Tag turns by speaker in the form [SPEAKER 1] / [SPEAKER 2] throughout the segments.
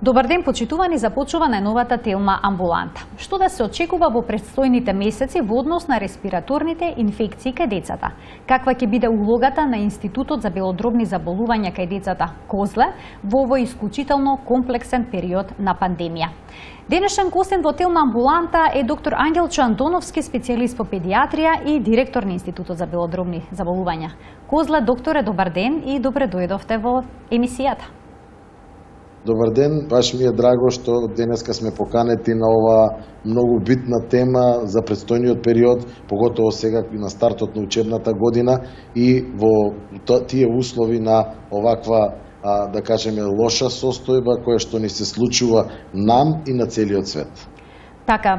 [SPEAKER 1] Добар ден, почитувани, започува најновата телма амбуланта. Што да се очекува во предстојните месеци во однос на респираторните инфекции кај децата? Каква ќе биде улогата на Институтот за белодробни заболувања кај децата Козле во овој исклучително комплексен период на пандемија? Денешен гостин во телма амбуланта е доктор Ангелчо Антоновски, специјалист по педиатрија и директор на Институтот за белодробни заболувања Козле. Докторе, добар ден и добре дојдовте во емисијата.
[SPEAKER 2] Добар ден, баш ми е драго што денеска сме поканети на ова многу битна тема за предстојниот период, поготово сега на стартот на учебната година и во тие услови на оваква, да кажеме, лоша состојба која што ни се случува нам и на целиот свет.
[SPEAKER 1] Така,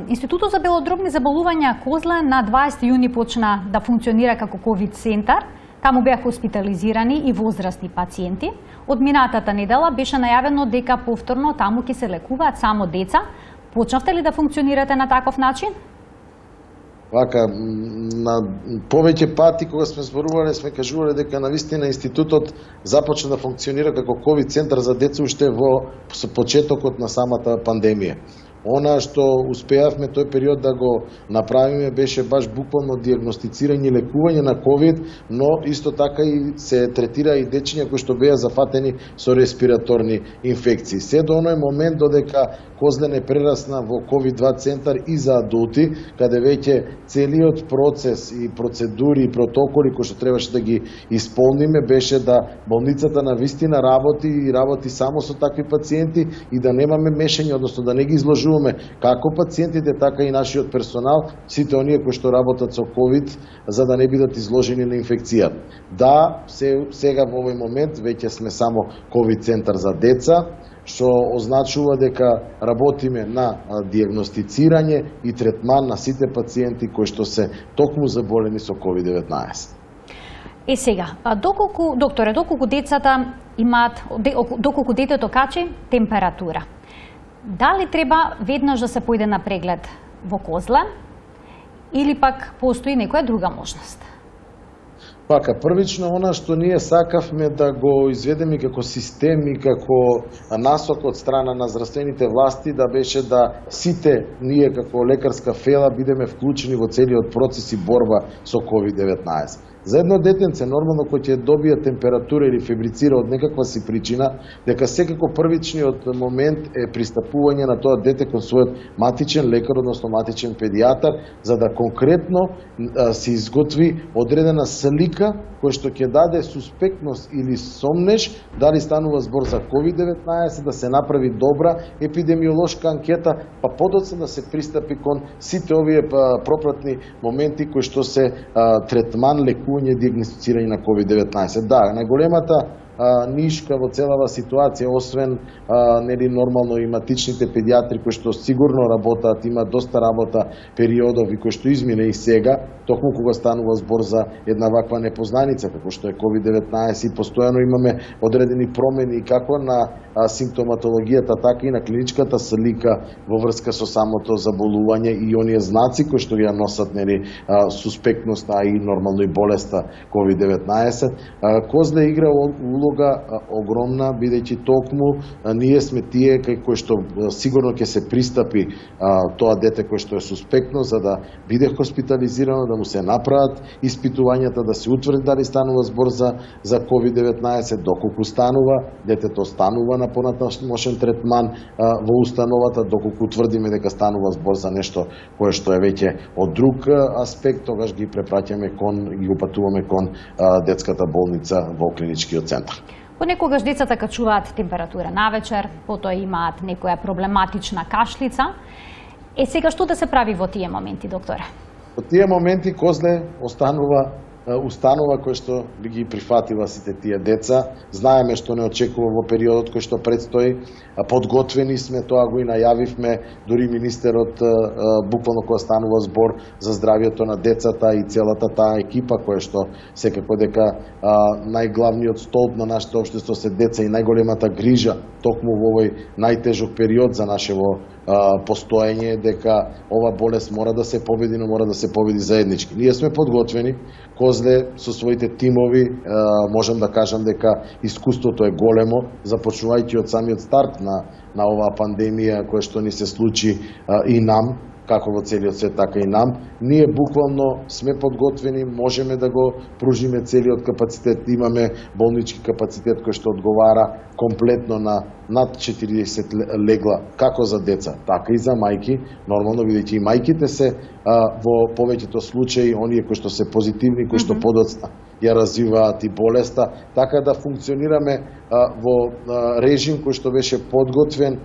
[SPEAKER 1] Институтот за белодробни заболувања Козле на 20 јуни почна да функционира како ковид центар. Таму беа хоспитализирани и возрастни пациенти. Од минатата недела беше најавено дека повторно таму ќе се лекуваат само деца. Почнавте ли да функционирате на таков начин?
[SPEAKER 2] Вака, на повеќе пати кога сме зборувале, сме кажувале дека навистина институтот започна да функционира како ковид центар за деца уште во почетокот на самата пандемија. Она што успеавме тој период да го направиме беше баш буквално диагностицирање и лекување на ковид, но исто така и се третира и дечиња кои што беа зафатени со респираторни инфекции. Се до оној момент додека Козле не прерасна во ковид-2 центар и за адулти, каде веќе целиот процес и процедури и протоколи кои што требаше да ги исполниме беше да болницата на вистина работи само со такви пациенти и да немаме мешање, односно да не ги изложуваме како пациентите, така и нашиот персонал, сите оние кои што работат со ковид, за да не бидат изложени на инфекција. Да, сега во овој момент веќе сме само ковид центар за деца, што означува дека работиме на диагностицирање и третман на сите пациенти кои што се токму заболени со COVID-19.
[SPEAKER 1] Сега, доколку децата имаат, доколку детето качи температура, дали треба веднаш да се појде на преглед во Козле или пак постои некоја друга можност?
[SPEAKER 2] Пака, првично она што ние сакавме да го изведеме како систем и како насок од страна на здравствените власти, да беше да сите ние како лекарска фела бидеме вклучени во целиот процес и борба со COVID-19. За едно детенце, нормално, кој ќе добие температура или фебрицира од некаква си причина, дека секако првичниот момент е пристапување на тоа дете кон својот матичен лекар, односно матичен педијатар, за да конкретно се изготви одредена слика која што ќе даде суспектност или сомнеж дали станува збор за COVID-19, да се направи добра епидемиолошка анкета, па подоцна да се пристапи кон сите овие пропратни моменти кои што се третман, лекување, диагностицирање на COVID-19. Да, најголемата нишка во целава ситуација, освен нормално и матичните педиатри кои што сигурно работат, има доста работа периодови кои што измине и сега, токму кога станува збор за една ваква непознаница како што е COVID-19 и постојано имаме одредени промени како на симптоматологијата, така и на клиничката слика во врска со самото заболување и оние знаци кои што ја носат суспектност, а и нормално и болеста COVID-19. Козле игра улога огромна, бидејќи токму ние сме тие кои што сигурно ќе се пристапи тоа дете кој што е суспектно, за да биде хоспитализирано, да му се направат испитувањата, да се утврди дали станува збор за COVID-19, доколку станува, детето станува на понатамошен третман во установата, доколку утврдиме дека станува збор за нешто кое што е веќе од друг аспект, тогаш ги препраќаме и упатуваме кон детската болница во клиничкиот центар.
[SPEAKER 1] Понекогаш децата качуваат температура навечер, потоа имаат некоја проблематична кашлица. Сега што да се прави во тие моменти, докторе?
[SPEAKER 2] Во тие моменти Козле останува установа кој што би ги прифатила сите тие деца. Знаеме што не очекува во периодот кој што предстои. Подготвени сме, тоа го и најавивме, дури министерот буквално кога станува збор за здравјето на децата и целата таа екипа која што секако дека најглавниот столб на нашето општество се деца и најголемата грижа токму во овој најтежок период за нашево постоење дека ова болест мора да се победи, но мора да се победи заеднички. Ние сме подготвени, Козле со своите тимови, можам да кажам дека искуството е големо, започнувајќи од самиот старт на оваа пандемија која што ни се случи и нам, како во целиот свет, така и нам. Ние буквално сме подготвени, можеме да го пружиме целиот капацитет, имаме болнички капацитет кој што одговара комплетно на над 40 легла, како за деца, така и за мајки. Нормално, бидејќи и мајките се во повеќето случаи оние кои што се позитивни, кои што подоцна ја развиваат и болеста, така да функционираме во режим кој што беше подготвен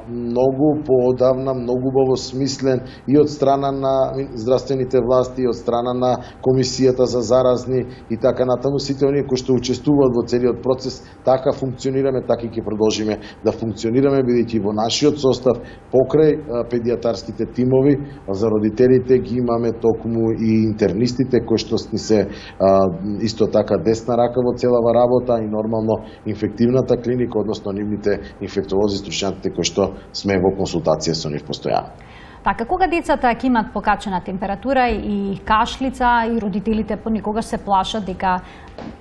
[SPEAKER 2] многу поодавна, многу убаво смислен и од страна на здравствените власти, и од страна на Комисијата за заразни и така натаму. Сите оние кои што учествуваат во целиот процес, така функционираме, така и ќе продолжиме да функционираме, бидејќи во нашиот состав покрај педијатарските тимови за родителите ги имаме токму и интернистите кои што ни се исто така десна рака во целава работа и нормално инфективната клиника, односно нивните инфектолози, стручњаците кои што сме во консултација со нив постојано.
[SPEAKER 1] Така, кога децата ќе имат покачена температура и кашлица и родителите понекогаш се плашат дека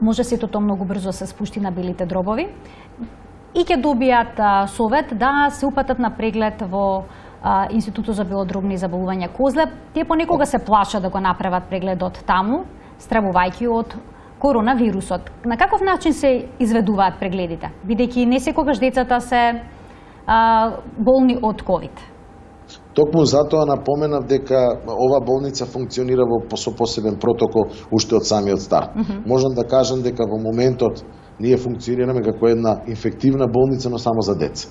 [SPEAKER 1] може сето тоа многу брзо се спушти на белите дробови и ќе добијат совет да се упатат на преглед во Институтот за белодробни заболувања Козле. Тие понекога се плашат да го направат прегледот таму, стравувајќи од коронавирусот. На каков начин се изведуваат прегледите, бидејќи не секогаш децата се болни од ковид?
[SPEAKER 2] Токму затоа напоменав дека ова болница функционира со посебен протокол уште од самиот старт. Можам да кажам дека во моментот ние функционираме како една инфективна болница, но само за деца.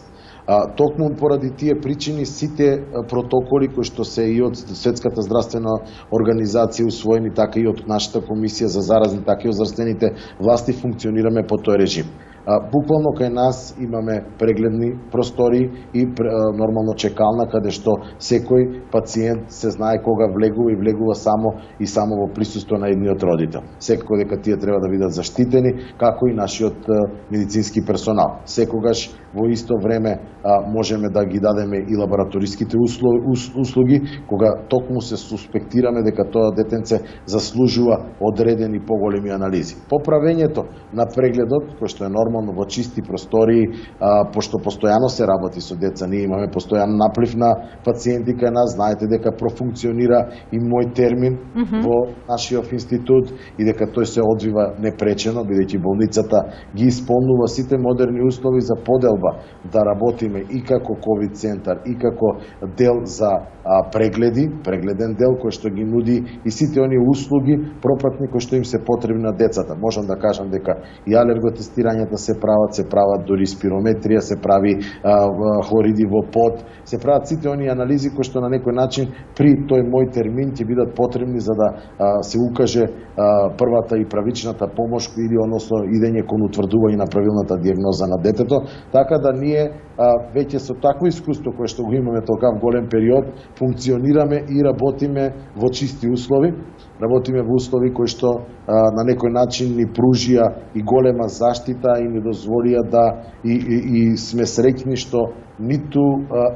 [SPEAKER 2] Токму поради тие причини сите протоколи кои што се и од Светската здравствена организација усвоени, така и од нашата Комисија за заразни, така и од здравствените власти функционираме по тој режим. Буквално кај нас имаме прегледни простори и нормално чекална каде што секој пациент се знае кога влегува и влегува само и само во присуство на едниот родител. Секако дека тие треба да бидат заштитени, како и нашиот медицински персонал. Секогаш во исто време можеме да ги дадеме и лабораториските услуги, кога токму се суспектираме дека тоа детенце заслужува одредени поголеми анализи. Поправењето на прегледот, кој што е нормално во чисти простории, пошто постојано се работи со деца, ние имаме постојан наплив на пациенти кај нас, знаете дека профункционира и мој термин во нашиот институт и дека тој се одвива непречено, бидејќи болницата ги исполнува сите модерни услови за поделба да работиме и како ковид центар и како дел за прегледи, прегледен дел кој што ги нуди и сите оние услуги пропратни кои што им се потребни на децата. Можам да кажам дека и алерготестирањата се прават дури спирометрија, се прави хлориди во пот, се прават сите оние анализи кои што на некој начин при тој мој термин ќе бидат потребни за да се укаже првата и правичната помош или односно идење кон утврдување на правилната дијагноза на детето, така да ние веќе со такво искуство кое што го имаме толкав голем период, функционираме и работиме во чисти услови, работиме во услови кои што на некој начин ни пружија и голема заштита и ни дозволија да и сме среќни што ниту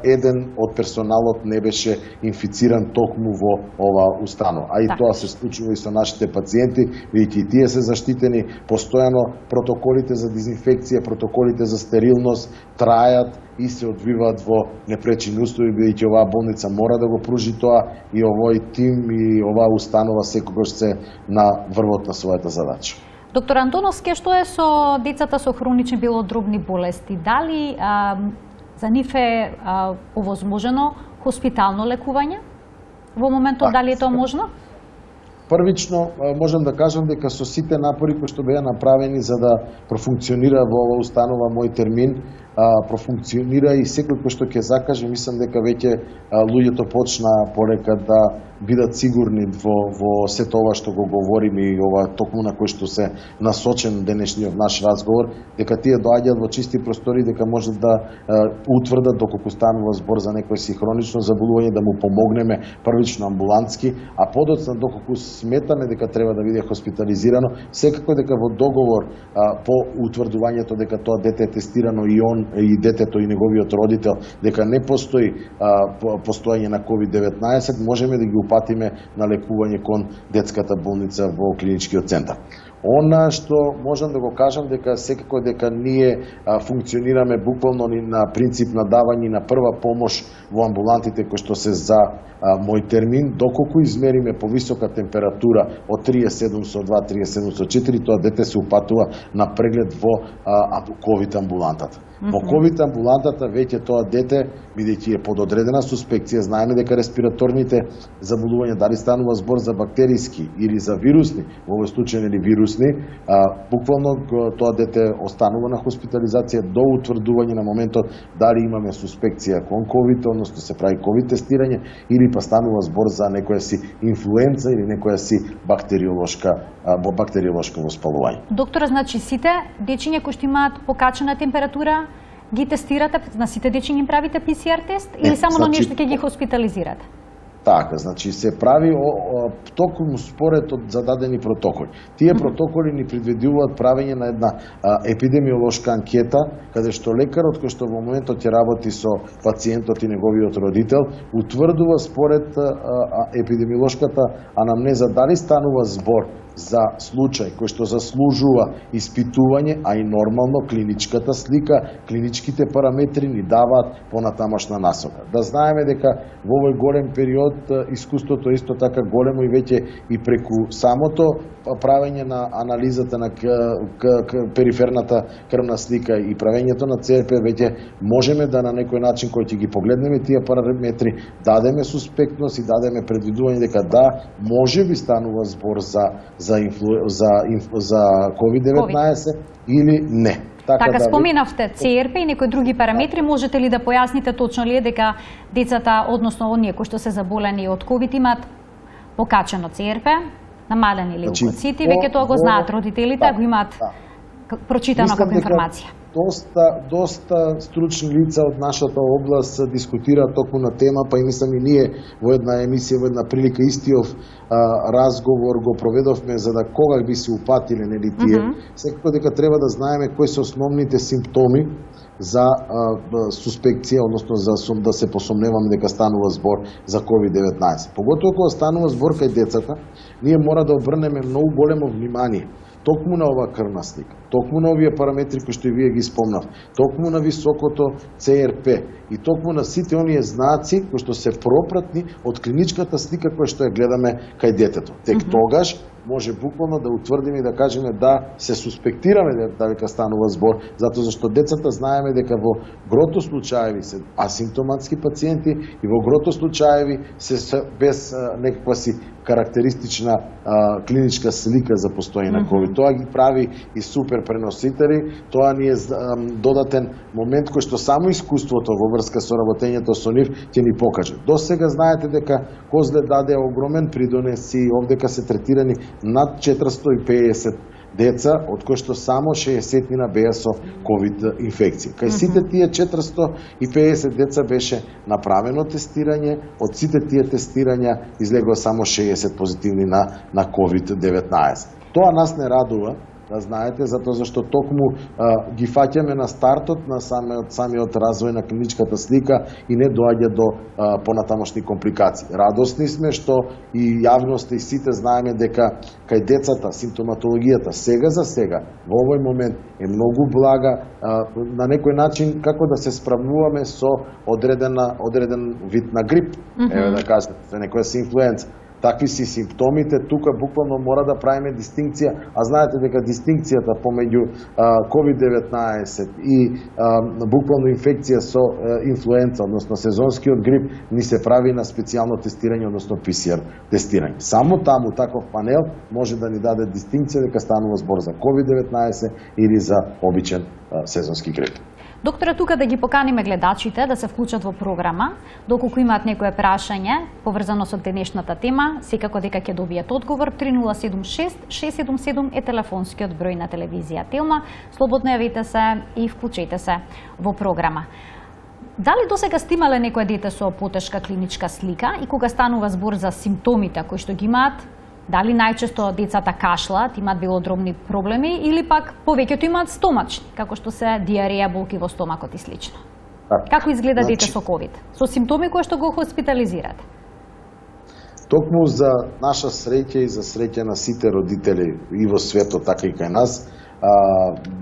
[SPEAKER 2] еден од персоналот не беше инфициран токму во оваа установа. А и тоа се случува и со нашите пациенти, бидејќи тие се заштитени, постојано протоколите за дезинфекција, протоколите за стерилност трајат и се одвиваат во непречени услови, бидејќи оваа болница мора да го пружи тоа и овој тим и оваа установа секогаш се на врвот на својата задача.
[SPEAKER 1] Доктор Антоновски, што е со децата со хронични белодробни болести? Дали за нив е овозможено хоспитално лекување? Во моментот дали е тоа можно?
[SPEAKER 2] Првично, можам да кажам дека со сите напори кои што беа направени за да профункционира во оваа установа мој термин, профункционира и секој кој што ќе закаже, мислам дека веќе луѓето почна полека да бидат сигурни во сето ова што го говориме и ова токму на кој што се насочен денешниот наш разговор, дека тие доаѓаат во чисти простори, дека можат да утврдат доколку станува збор за некој си хронично заболување, да му помогнеме првично амбулантски, а подоцна доколку сметаме дека треба да биде хоспитализирано, секако дека во договор по утврдувањето дека тоа дете е тестирано и он и детето и неговиот родител дека не постои постоење на COVID-19, можеме да ги упатиме на лекување кон детската болница во клиничкиот центар. Она што можам да го кажам дека секако дека ние функционираме буквално на принцип на давање на прва помош во амбулантите кои што се за мој термин, доколку измериме повисока температура од 37,2, 37,4, тоа дете се упатува на преглед во ковид амбулантата. Во ковид амбулантата веќе тоа дете, бидејќи е пододредена суспекција, знаеме дека респираторните заболувања, дали станува збор за бактериски или за вирусни, во овој случај или вирусни, буквално тоа дете останува на хоспитализација до утврдување на моментот дали имаме суспекција кон ковид, односно се прави ковид тестирање, или па станува збор за некоја си инфлуенца или некоја си бактериолошко воспалување.
[SPEAKER 1] Доктора, значи сите дечиња кои што имаат покачена температура ги тестирате, на сите дечиња им правите ПСР тест или само на нешто ќе ги хоспитализирате?
[SPEAKER 2] Така, значи се прави токму според од зададени протоколи. Тие протоколи ни предвидуваат правење на една епидемиолошка анкета, каде што лекарот кој што во моментот ќе работи со пациентот и неговиот родител, утврдува според епидемиолошката анамнеза дали станува збор за случај кој што заслужува испитување, а и нормално клиничката слика, клиничките параметри ни даваат понатамошна насока. Да знаеме дека во овој голем период искуството исто така големо и веќе и преку самото правење на анализата на периферната крвна слика и правењето на ЦРП веќе можеме да на некој начин кој ќе ги погледнеме тие параметри, дадеме суспектност и дадеме предвидување дека да, може би станува збор за COVID-19 или не.
[SPEAKER 1] Така споменавте ЦРП и некои други параметри, можете ли да појасните точно ли е дека децата, односно оние кои што се заболени од ковид имаат покачено ЦРП, намалени леукоцити, веќе тоа го знаат родителите, го имаат прочитано како информација.
[SPEAKER 2] Доста стручни лица од нашата област дискутираат токму на тема, па и мислам и ние во една емисија, во една прилика истиов разговор го проведовме за да кога би се упатиле нели тие. Секако дека треба да знаеме кои се основните симптоми за суспекција, односно за да се посомневаме дека станува збор за COVID-19. Поготово кога станува збор кај децата, ние мора да обрнеме многу големо внимание токму на ова крвна слика, токму на овие параметри кои што и вие ги спомнав, токму на високото ЦРП и токму на сите оние знаци кои што се пропратни од клиничката слика која што ја гледаме кај детето. Тек тогаш може буквално да утврдиме и да кажеме да се суспектираме дека станува збор, затоа зашто децата знаеме дека во грото случаеви се асимптоматски пациенти и во грото случаеви се без некаква си карактеристична клиничка слика за постоење на COVID. Тоа ги прави и супер преносители, тоа ни е додатен момент кој што само искуството во врска со работењето со нив ќе ни покаже. До сега знаете дека Козле даде огромен придонес и овдека се третирани над 450 деца, од кои што само 60 беа со ковид инфекција. Кај сите тие 450 деца беше направено тестирање, од сите тие тестирања излегува само 60 позитивни на ковид-19. Тоа нас не радува, да знаете, затоа зашто токму ги фаќаме на стартот на самиот развој на клиничката слика и не доаѓа до понатамошни компликации. Радосни сме што и јавноста и сите знаеме дека кај децата симптоматологијата сега за сега во овој момент е многу блага, на некој начин како да се справуваме со одреден вид на грип, еве да кажем, за некоја си инфлуенца. Такви си симптомите, тука буквално мора да правиме дистинкција, а знаете дека дистинкцијата помеѓу COVID-19 и буквално инфекција со инфлуенца, односно сезонскиот грип, ни се прави на специјално тестирање, односно ПСР тестирање. Само таму таков панел може да ни даде дистинкција дека станува збор за COVID-19 или за обичен сезонски грип.
[SPEAKER 1] Доктора, тука да ги поканиме гледачите да се вклучат во програма, доколку имаат некое прашање поврзано со денешната тема, секако дека ќе добијат одговор. 3076-677 е телефонскиот број на телевизија Телма. Слободно јавете се и вклучете се во програма. Дали досега сте имале некој дете со потешка клиничка слика и кога станува збор за симптомите кои што ги имаат, Дали најчесто децата кашлат, имаат белодробни проблеми или пак повеќето имаат стомачни, како што се диареја, болки во стомакот и слично? Како изгледа дете со ковид? Со симптоми кои што го хоспитализирате?
[SPEAKER 2] Токму за наша среќа и за среќа на сите родители и во светот, така и кај нас,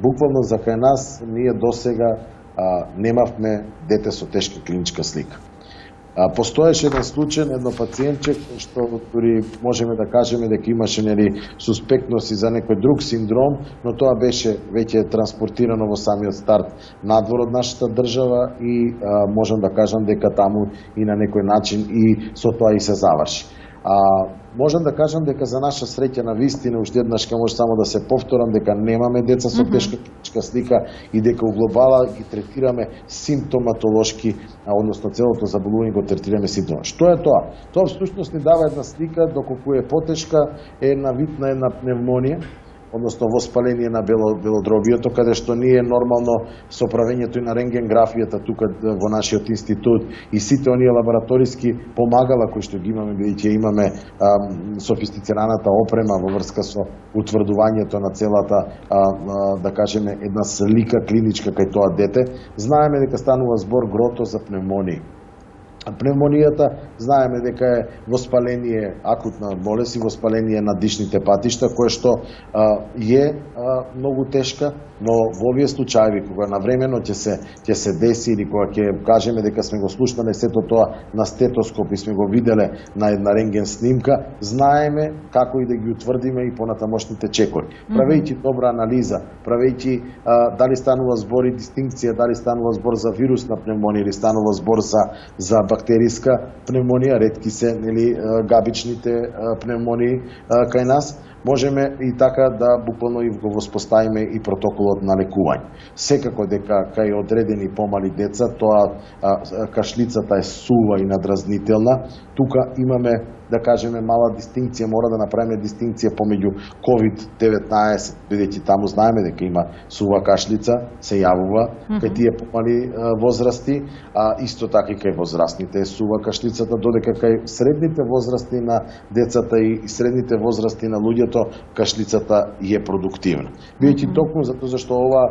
[SPEAKER 2] буквално за кај нас ние досега немавме дете со тешка клиничка слика. Постоеше еден случај, едно пациентче што дури можеме да кажеме дека имаше суспектност и за некој друг синдром, но тоа беше веќе транспортирано во самиот старт надвор од нашата држава и можам да кажам дека таму и на некој начин и со тоа и се заврши. Можам да кажам дека за наша среќа на вистина, уште еднаш може само да се повторам, дека немаме деца со тешка клиничка слика и дека у глобала ги третираме симптоматолошки, односно целото заболување го третираме симптома. Што е тоа? Тоа всушност ни дава една слика доколку е потешка, е една вид на една пневмонија, односно воспаление на белодробието, каде што ние нормално со правењето и на рентгенграфијата тука во нашиот институт и сите оние лабораториски помагала кои што ги имаме, бидејќи имаме софистицираната опрема во врска со утврдувањето на целата, да кажеме, една слика клиничка кај тоа дете, знаеме дека станува збор грото за пневмонија. Пневмонијата знаеме дека е воспаление, акутна болест и воспаление на дишните патишта, кое што е многу тешка, но во овие случаи кога навремено ќе се деси или кога ќе кажеме дека сме го слушнале сето тоа на стетоскоп и сме го виделе на една рентген снимка, знаеме како и да ги утврдиме и понатамошните чекори. Правејќи добра анализа, правејќи дали станува збор и дистинкција, дали станува збор за вирусна пневмонија или станува збор за бактериска пневмонија, ретки се габичните пневмонии кај нас, можеме и така да буквално и го воспоставиме и протоколот на лекување. Секако дека кај одредени помали деца тоа кашлицата е сува и надразнителна, тука имаме да кажеме мала дистинкција, мора да направиме дистинкција помеѓу COVID-19, бидејќи таму знаеме дека има сува кашлица, се јавува кај тие помали возрасти, а исто така и кај возрастните сува кашлицата, додека кај средните возрасти на децата и средните возрасти на луѓето кашлицата е продуктивна. Бидејќи токму затоа зашто ова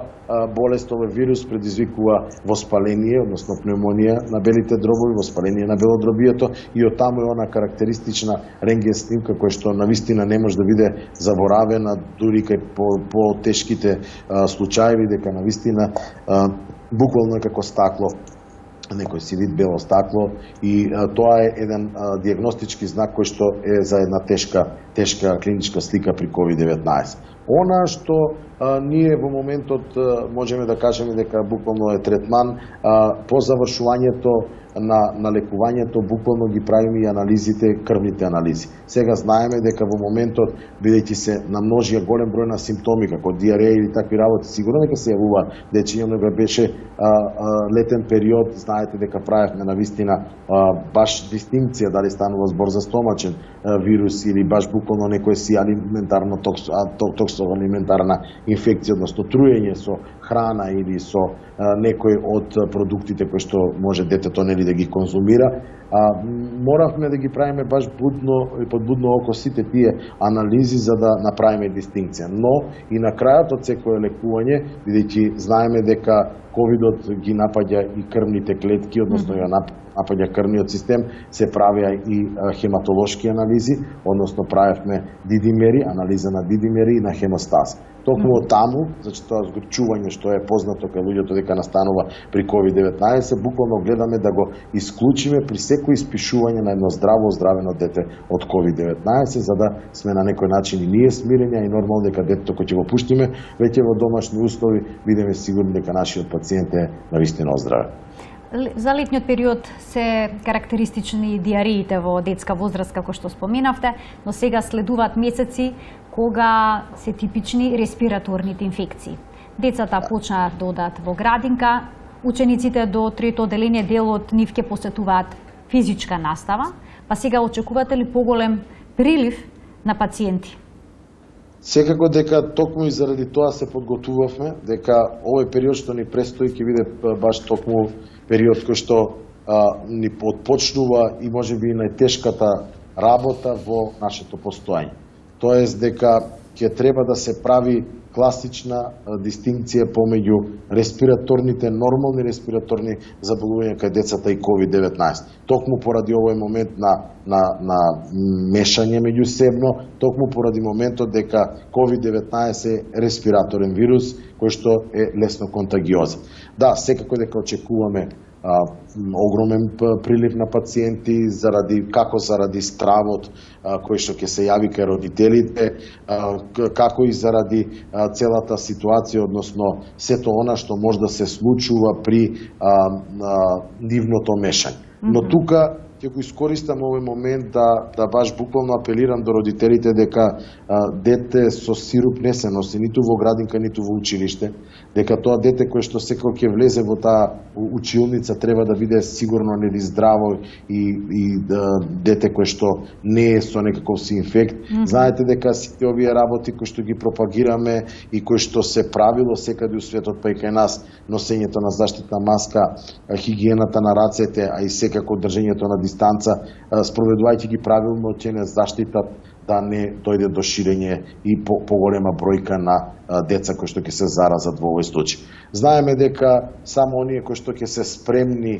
[SPEAKER 2] болест, овој вирус предизвикува воспаление, односно пневмонија на белите дробови, воспаление на белодробието и од таму е она карактеристична рентген снимка која што навистина не може да биде заборавена дури кај по тешките случаи, дека навистина буквално како стакло, некој си вид бело стакло и тоа е еден диагностички знак кој што е за една тешка клиничка слика при COVID-19. Она што ние во моментот можеме да кажеме дека буквално е третман, по завршувањето на лекувањето буквално ги правиме и анализите, крвните анализи. Сега знаеме дека во моментот, бидејќи се намножија голем број на симптоми како диареја или такви работи, сигурно дека се јавува дечиња, дека беше летен период, знаете дека правевме навистина баш дистинкција дали станува збор за стомачен вирус или баш буквално некој си алиментарно токсоалиментарна инфекција, односно труење со храна или со некој од продуктите кои што може детето да ги конзумира. Моравме да ги правиме баш будно и под будно око сите тие анализи за да направиме дистинкција. Но и на крајот од секое лекување, бидејќи знаеме дека ковидот ги напаѓа и крвните клетки, односно ја напаѓа крвниот систем, се правеа и хематолошки анализи, односно правевме дидимери, анализа на дидимери и на хемостаз. Токму од таму, значи тоа згорчување што е познато кај луѓето дека настанува при COVID-19, буквално гледаме да го исклучиме при секој испишување на едно здраво, оздравено дете од COVID-19, за да сме на некој начин и ние смирени, и нормално дека детето кој ќе го пуштиме веќе во домашни услови, бидеме сигурни дека нашиот пациент е навистина оздравен.
[SPEAKER 1] За летниот период се карактеристични диареите во детска возраст, како што споменавте, но сега следуваат месеци кога се типични респираторните инфекции. Децата почнаа да одат во градинка, учениците до трето одделение дел од нив ќе посетуваат физичка настава, па сега очекувате ли поголем прилив на пациенти?
[SPEAKER 2] Секако дека токму и заради тоа се подготвувавме, дека овој период што ни престои ќе биде баш токму период кој што ни отпочнува и можеби и најтешката работа во нашето постоење. Тоест дека ќе треба да се прави класична дистинкција помеѓу респираторните, нормални респираторни заболувања кај децата и COVID-19. Токму поради овој момент на мешање меѓусебно, токму поради моментот дека COVID-19 е респираторен вирус кој што е лесно контагиозен. Да, секако дека очекуваме огромен прилив на пациенти како заради стравот кој што ќе се јави кај родителите, како и заради целата ситуација, односно сето она што може да се случува при нивното мешање. Но тука ќе го искористам овој момент да баш буквално апелирам до родителите дека дете со сируп не се носи ниту во градинка, ниту во училиште, дека тоа дете кое што секако ќе влезе во таа училница треба да биде сигурно нели здраво и дете кое што не е со некаков си инфект. Знаете дека сите овие работи кои што ги пропагираме и кои што се правило секаде у светот, па и кај нас, носењето на заштитна маска, хигиената на рацете, а и секако држењето на дистанца, спроведувајќи ги правилно, ќе не заштитат да не дојде до ширење и поголема бројка на деца кои што ќе се заразат во овој случај. Знаеме дека само оние кои што ќе се спремни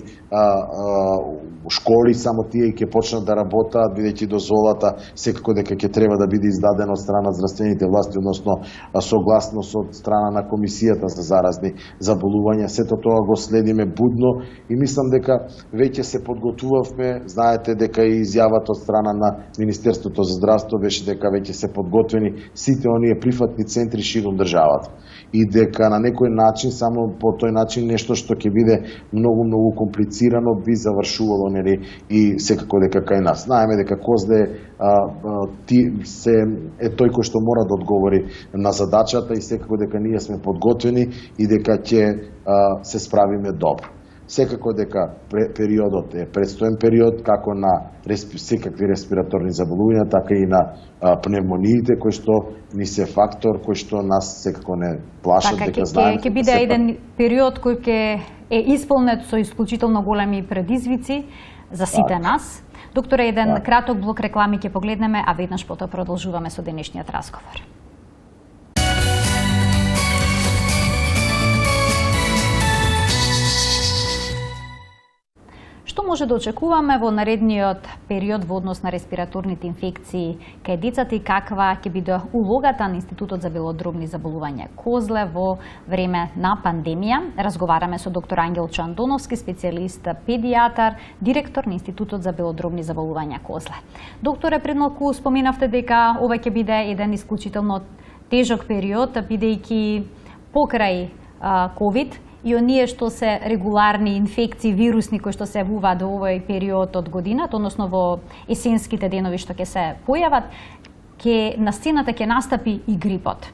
[SPEAKER 2] школи, само тие ќе почнат да работаат, бидејќи дозволата секако дека ќе треба да биде издадена од страна здравствените власти, односно согласност од страна на Комисијата за заразни заболувања. Сето тоа го следиме будно и мислам дека веќе се подготвувавме. Знаете дека и изјавата од страна на Министерството за здравство беше дека веќе се подготвени сите оние прифатни центри ширум државата и дека на некој начин, само по тој начин нешто што ќе биде многу комплицирано би завршувало, нели, и секако дека кај нас. Знаеме дека Козле е тој кој што мора да одговори на задачата и секако дека ние сме подготвени и дека ќе се справиме добро. Секако дека периодот е предстоен период, како на секакви респираторни заболувања, така и на пневмониите, кои што ни се фактор, кој што нас секако не плашат, дека знаеме.
[SPEAKER 1] Ќе биде еден период кој ќе е исполнет со исклучително големи предизвици за сите нас. Докторе, еден краток блок реклами ќе погледнеме, а веднаш потоа продолжуваме со денешниот разговор. Што може да очекуваме во наредниот период во однос на респираторните инфекции кај децата и каква ќе биде улогата на Институтот за белодробни заболувања Козле во време на пандемија? Разговараме со доктор Ангел Чандоновски, специјалист педијатар, директор на Институтот за белодробни заболувања Козле. Докторе, пред малку споменавте дека ова ќе биде еден исклучително тежок период, бидејќи покрај ковид и оние што се регуларни инфекции вирусни кои што се јавуваат во овој период од годината, односно во есенските денови што ќе се појават, на сцената ќе настапи и грипот.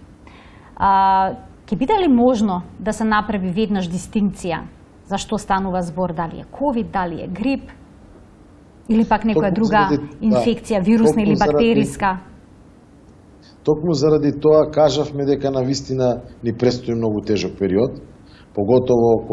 [SPEAKER 1] Ќе биде ли можно да се направи веднаш дистинкција за што станува збор, дали е ковид, дали е грип или пак некоја друга инфекција, вирусна или бактериска?
[SPEAKER 2] Токму заради тоа кажавме дека навистина ни престои многу тежок период, поготово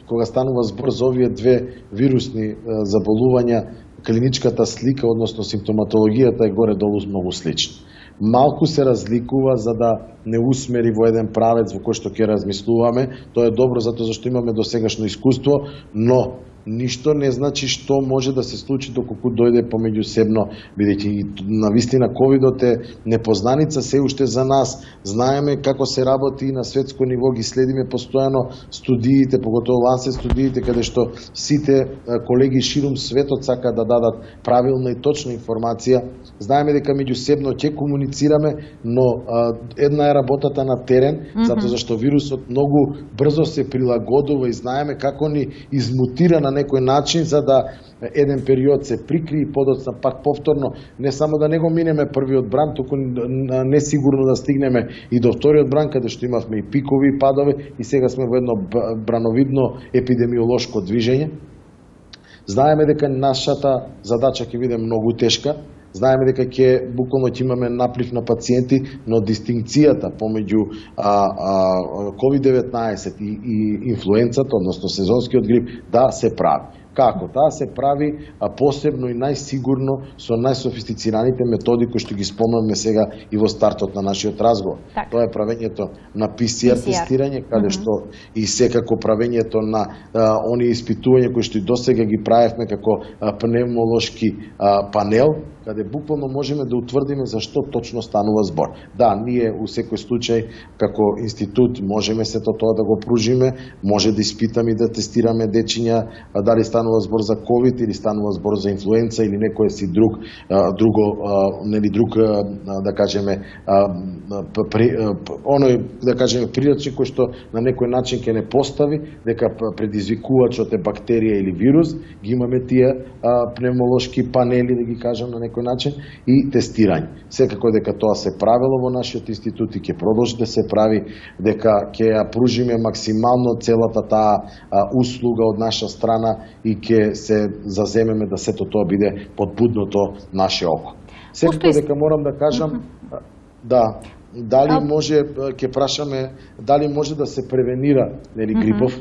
[SPEAKER 2] кога станува збор за овие две вирусни заболувања, клиничката слика, односно симптоматологијата е горе-долу многу слична. Малку се разликува за да не усмери во еден правец во кој што ќе размислуваме. Тоа е добро затоа зашто имаме досегашно искуство, но ништо не значи што може да се случи доколку дојде помеѓусебно, бидејќи навистина ковидот е непознаница се уште за нас. Знаеме како се работи и на светско ниво, ги следиме постојано студиите, поготово Лансет студиите, каде што сите колеги ширум светот сака да дадат правилна и точна информација. Знаеме дека меѓусебно ќе комуницираме, но една е работата на терен, затоа зашто вирусот многу брзо се прилагодува и знаеме како ни измутира на некој начин за да еден период се прикри и подоцна пак повторно не само да не го минеме првиот бран, туку не сигурно да стигнеме и до вториот бран, каде што имавме и пикови и падове и сега сме во едно брановидно епидемиолошко движење. Знаеме дека нашата задача ќе биде многу тешка. Знаеме дека буквално ќе имаме наплив на пациенти, но дистинкцијата помеѓу COVID-19 и инфлуенцата, односно сезонскиот грип, да се прави. Како? Таа се прави посебно и најсигурно со најсофистицираните методи кои што ги спомнавме сега и во стартот на нашиот разговор.
[SPEAKER 1] Так.
[SPEAKER 2] Тоа е правењето на PCR тестирање, каде што и секако правењето на оние испитувања кои што и досега ги правевме како пневмолошки панел, каде буквално можеме да утврдиме за што точно станува збор. Да, ние у секој случај како институт можеме сето тоа да го пружиме, може да испитаме и да тестираме дечиња дали станува збор за ковид или станува збор за инфлуенца или некој си друг да кажеме оној да кажеме природник кој што на некој начин ќе не постави дека предизвикувачот е бактерија или вирус, ги имаме тие пневмолошки панели да ги кажам на некој начин и тестирање. Секако дека тоа се правело во нашиот институт и ќе продолжи да се прави, дека ќе ја пружиме максимално целата таа услуга од наша страна и ќе се заземеме да сето тоа биде под будното наше око. Секако дека морам да кажам дали може, ќе прашаме, дали може да се превенира грипов,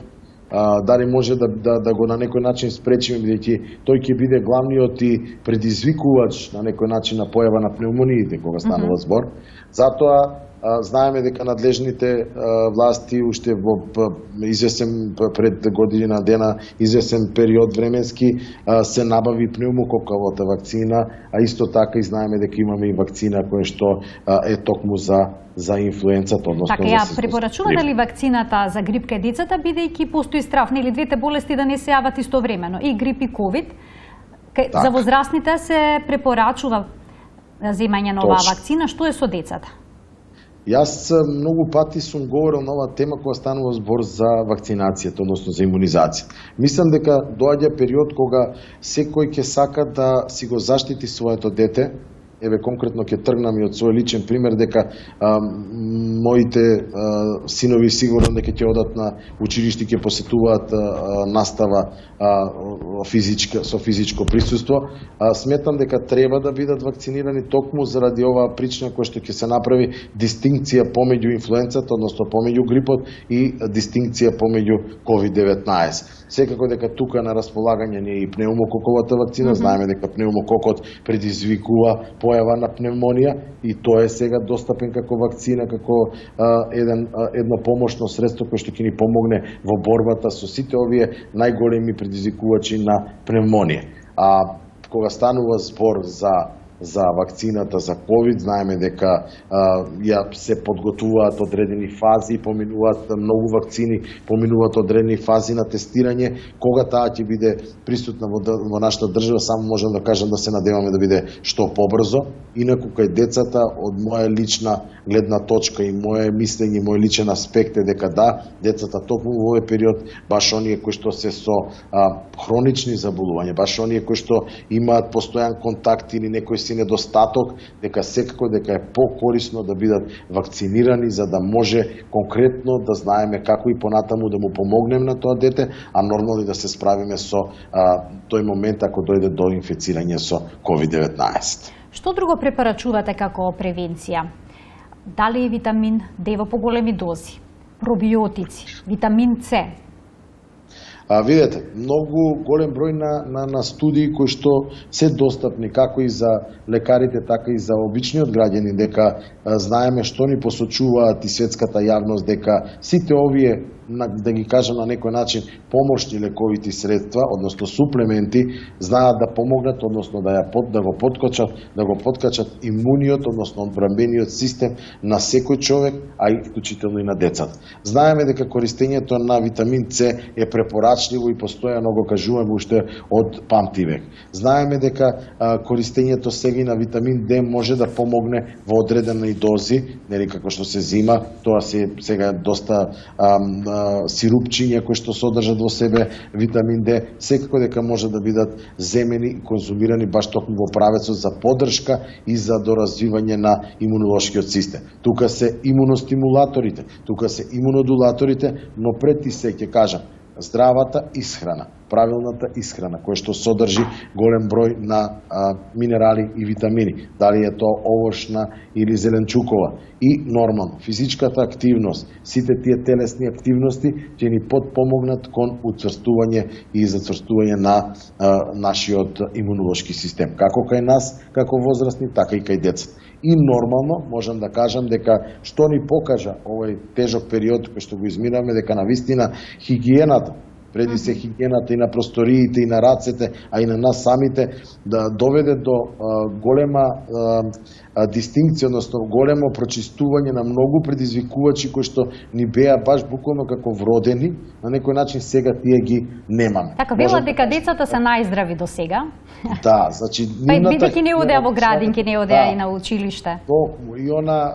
[SPEAKER 2] дали може да го на некој начин спречиме, бидејќи тој ќе биде главниот и предизвикувач на некој начин на појава на пневмониите кога станува збор. Затоа знаеме дека надлежните власти уште во извесен пред година дена, извесен период временски се набави пневмококовата вакцина, а исто така и знаеме дека имаме и вакцина која што е токму за инфлуенцата, односно
[SPEAKER 1] така, ја препорачувате ли вакцината за грип кај децата, бидејќи постои страв нели двете болести да не се јават истовремено, и грип и ковид? За возрастните се препорачува земање на оваа вакцина, што е со децата?
[SPEAKER 2] Јас многу пати сум говорил на оваа тема кога станува збор за вакцинацијата, односно за имунизација. Мислам дека доаѓа период кога секој ќе сака да си го заштити своето дете. Еве конкретно ќе тргнам и од свој личен пример дека моите синови сигурно дека ќе одат на училиште, ќе посетуваат настава со физичко присуство. Сметам дека треба да бидат вакцинирани токму заради оваа причина која што ќе се направи дистинкција помеѓу инфлуенцата, односно помеѓу грипот и дистинкција помеѓу COVID-19. Секако дека тука на располагање не е и пневмококовата вакцина, знаеме дека пневмококот предизвикува појава на пневмонија и тоа е сега достапен како вакцина, како едно помошно средство кое што ќе ни помогне во борбата со сите овие најголеми предизвикувачи на пневмонија. А кога станува збор за вакцината за ковид, знаеме дека ја се подготвуваат одредени фази, поминуваат многу вакцини, поминуваат одредени фази на тестирање. Кога таа ќе биде присутна во нашата држава, само можам да кажам да се надеваме да биде што побрзо. Инаку кај децата, од моја лична гледна точка и моје мислење, мој личен аспект е дека да, децата токму во овој период, баш оние кои што се со хронични заболувања, баш оние кои што имаат постојан контакт или некој си недостаток, дека секако дека е покорисно да бидат вакцинирани за да може конкретно да знаеме како и понатаму да му помогнем на тоа дете, а нормално и да се справиме со тој момент ако дојде до инфицирање со COVID-19.
[SPEAKER 1] Што друго препорачувате како превенција? Дали витамин D во поголеми дози, пробиотици, витамин С?
[SPEAKER 2] Видете, многу голем број на студии кои што се достапни како и за лекарите, така и за обичниот граѓани, дека знаеме што ни посочуваат и светската јавност, дека сите овие, да ги кажам на некој начин, помошни лековити средства, односно суплементи, знаат да помогнат, односно да го поткачат имуниот, односно одбранбениот систем на секој човек, а и вклучително и на децата. Знаеме дека користењето на витамин С е препорачливо и постојано го кажуваме уште од памтивек. Знаеме дека користењето сега на витамин Д може да помогне во одредени дози, нели како што се зима, тоа се сега доста сирупчиња кои што содржат во себе витамин Д, секако дека може да бидат земени и конзумирани баш токму во правецот за поддршка и за доразвивање на имунолошкиот систем. Тука се имуностимулаторите, тука се имунодулаторите, но пред и се ќе кажам, здравата исхрана, правилната исхрана, која што содржи голем број на минерали и витамини, дали е тоа овошна или зеленчукова, и нормално физичката активност, сите тие телесни активности ќе ни подпомогнат кон уцврстување и зацврстување на нашиот имунолошки систем, како кај нас, како возрастни, така и кај децата. И нормално можам да кажам дека што ни покажа овој тежок период кој што го изминавме, дека навистина хигиената, преди се хигиената и на просториите и на рацете, а и на нас самите, да доведе до голема дистинкција, односно големо прочистување на многу предизвикувачи кои што ни беа баш буквално како вродени, на некој начин сега тие ги немаме.
[SPEAKER 1] Така, велат дека децата се најздрави до сега.
[SPEAKER 2] Да, значи
[SPEAKER 1] бидејќи не одеа во градинки, не одеа и на училиште.
[SPEAKER 2] И она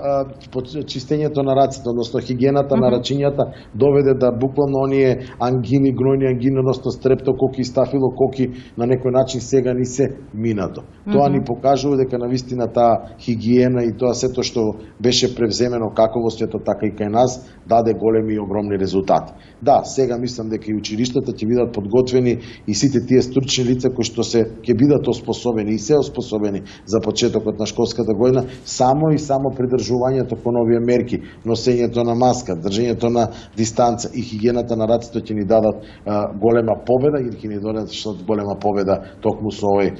[SPEAKER 2] чистењето на раците, односно хигиената на рачињата доведе да буквално оние ангини, гнојни ангини, односно стрептококи и стафилококи на некој начин сега ни се минато. Тоа ни покажува дека навистина таа хигиена и тоа сето што беше превземено како во светот, така и кај нас, даде големи и огромни резултати. Да, сега мислам дека и училиштата ќе бидат подготвени и сите тие стручни лица кои што ќе бидат оспособени и се оспособени за почетокот на школската година, само и само придржувањето кон овие мерки, носењето на маска, држењето на дистанца и хигиената на раците ќе ни дадат голема победа или ќе ни дадат голема победа токму со овој,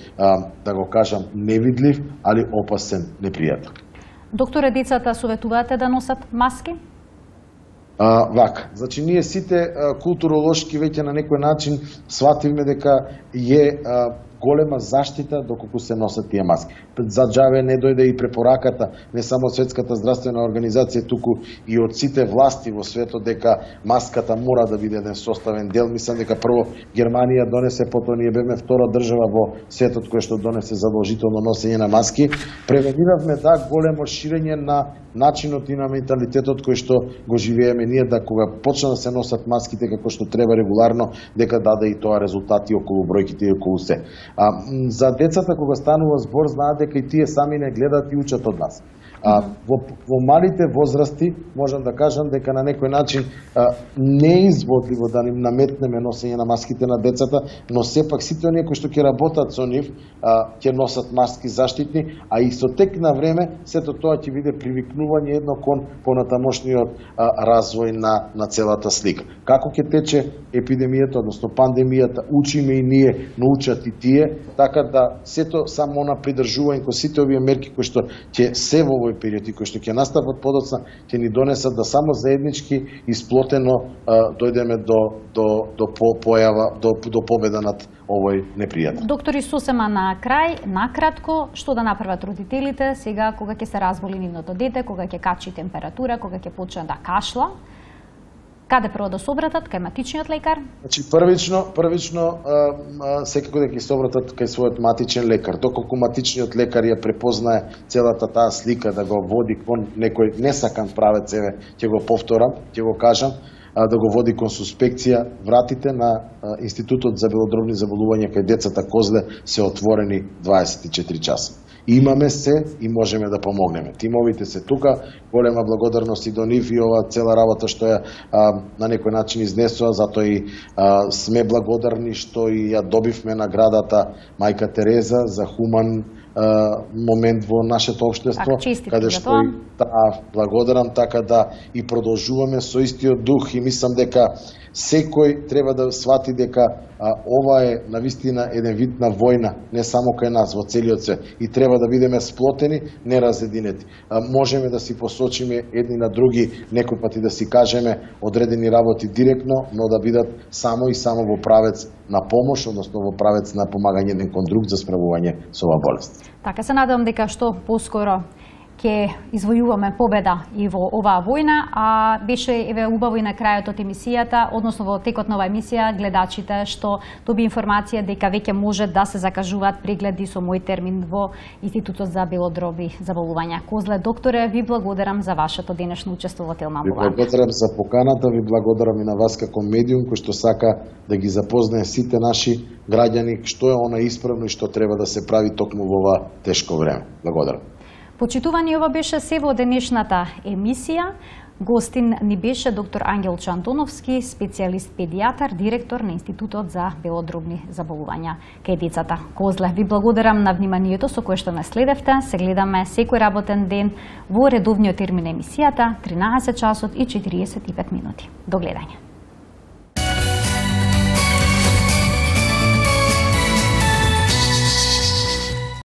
[SPEAKER 2] да го кажам, невидлив, али опасен непријател.
[SPEAKER 1] Докторе, децата советуваате да носат маски?
[SPEAKER 2] Вака, значи ние сите културолошки веќе на некој начин свативме дека е голема заштита доколку се носат тие маски. За џаве не дојде и препораката не само од Светската здравствена организација, туку и од сите власти во светот дека маската мора да биде еден составен дел. Мислам дека прво Германија донесе, потоа ние бевме втора држава во светот која што донесе задолжително носење на маски. Превениравме големо ширење на начинот и на менталитетот кој што го живееме ние, да кога почна да се носат маските како што треба регуларно, дека даде и тоа резултати околу бројките и околу се. За децата кога станува збор, знаат дека и тие сами не гледат и учат од нас. Во малите возрасти можам да кажам дека на некој начин не е изводливо да ним наметнеме носење на маските на децата, но сепак сите оние кои што ќе работат со нив ќе носат маски заштитни, а и со тек на време сето тоа ќе биде привикнување едно кон понатамошниот развој на целата слика. Како ќе тече епидемијата, односно пандемијата, учиме и ние, научат и тие, така да сето само на придржување кон сите овие мерки кои што ќе се во овој период и кои што ќе настават подоцна, ќе ни донесат да само заеднички и сплотено дојдеме до појава, до победа над овој непријател.
[SPEAKER 1] Доктори, сосема на крај, накратко, што да направат родителите сега кога ќе се разболи нивното дете, кога ќе качи температура, кога ќе почне да кашла? Каде прво да се обратат? Кај матичниот лекар?
[SPEAKER 2] Значи, првично секако да ќе се обратат кај својот матичен лекар. Доколку матичниот лекар ја препознае целата таа слика, да го води кон некој несакан правец, ќе го повторам, ќе го кажам, да го води кон суспекција, вратите на Институтот за белодробни заболувања кај децата Козле се отворени 24 часа. Имаме се и можеме да помогнеме. Тимовите се тука, голема благодарност и до нив и ова цела работа што ја на некој начин изнесува, затоа и сме благодарни што и ја добивме наградата Мајка Тереза за хуман момент во нашето општество, каде што и благодарам, така да и продолжуваме со истиот дух и мислам дека секој треба да свати дека ова е навистина еден вид на војна, не само кај нас, во целиот свет, и треба да бидеме сплотени, не разединети. Можеме да си посочиме едни на други, некој пати да си кажеме одредени работи директно, но да бидат само и само во правец на помош, односно во правец на помагање еден кон друг за справување со оваа болест.
[SPEAKER 1] Така, се надевам дека што поскоро ќе извојуваме победа и во оваа војна, а беше убаво и на крајот од емисијата, односно во текот на оваа емисија, гледачите што доби информација дека веќе може да се закажуваат прегледи со мој термин во Институтот за белодробни заболувања Козле. Докторе, ви благодарам за вашето денешно учество во Телма Амбуланта.
[SPEAKER 2] Ви благодарам за поканата, ви благодарам и на вас како медиум кој што сака да ги запознае сите наши граѓани што е она исправно и што треба да се прави токму во ова тешко време. Благодарам.
[SPEAKER 1] Почитувани, ова беше се во денешната емисија. Гостин ни беше доктор Ангел Чантоновски, специјалист педијатар, директор на Институтот за белодробни заболувања кај децата. Козле, ви благодарам на вниманието со кое што ме следевте. Се гледаме секој работен ден во редовниот термин емисијата 13 часот и 45 минути. До гледање.